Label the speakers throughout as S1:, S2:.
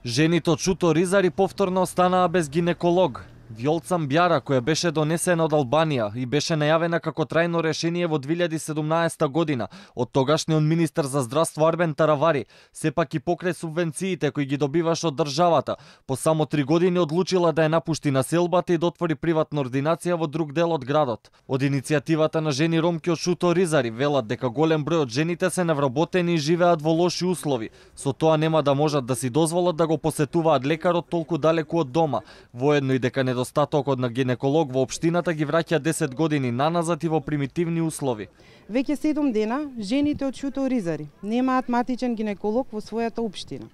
S1: Жените од Шуто Ризари повторно останаа без гинеколог. Вјолца Мбјара, која беше донесена од Албанија и беше најавена како трајно решение во 2017 година од тогашниот министер за здравство Арбен Таравари, сепак и покрај субвенциите кои ги добиваше од државата, по само 3 години одлучила да ја напушти населбата и да отвори приватна ординација во друг дел од градот. Од иницијативата на жени ромки од Шуто Ризари велат дека голем број од жените се невработени и живеат во лоши услови. Со тоа нема да можат да си дозволат да го посетуваат лекарот толку далеку од дома, воедно и дека недостатокот на гинеколог во општината ги враќа 10 години наназад и во примитивни услови.
S2: Веќе 7 дена жените од Шуто Ризари немаат матичен гинеколог во својата општина.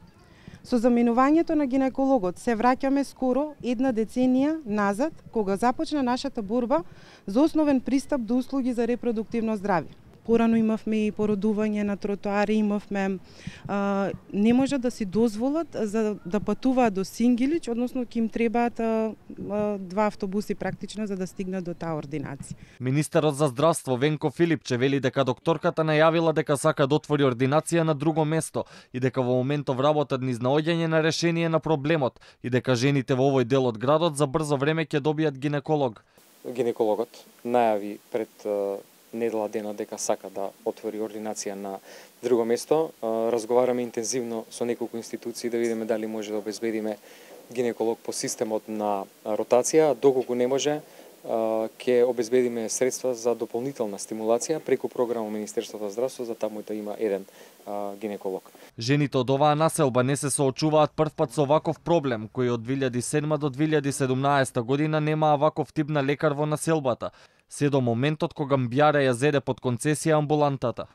S2: Со заменувањето на гинекологот се враќаме скоро една деценија назад, кога започна нашата борба за основен пристап до услуги за репродуктивно здравје. Порано имавме и породување на тротоари, не можат да си дозволат за да патуваат до Сингилич, односно ќе им требаат 2 автобуси практично за да стигнат до таа ординација.
S1: Министерот за здравство Венко Филипче вели дека докторката најавила дека сака да отвори ординација на друго место и дека во моментов работат низ наоѓање на решение на проблемот и дека жените во овој дел од градот за брзо време ќе добијат гинеколог.
S3: Гинекологот најави пред недела дена дека сака да отвори ординација на друго место. Разговараме интензивно со неколку институции да видиме дали може да обезбедиме гинеколог по системот на ротација. Доколку не може, ќе обезбедиме средства за дополнителна стимулација преку програма Министерството за здравство за таму да има еден гинеколог.
S1: Жените од оваа населба не се соочуваат првпат со ваков проблем, кој од 2007 до 2017 година немаа ваков тип на лекар во населбата, се до моментот кога Мбјара ја зеде под концесија амбулантата.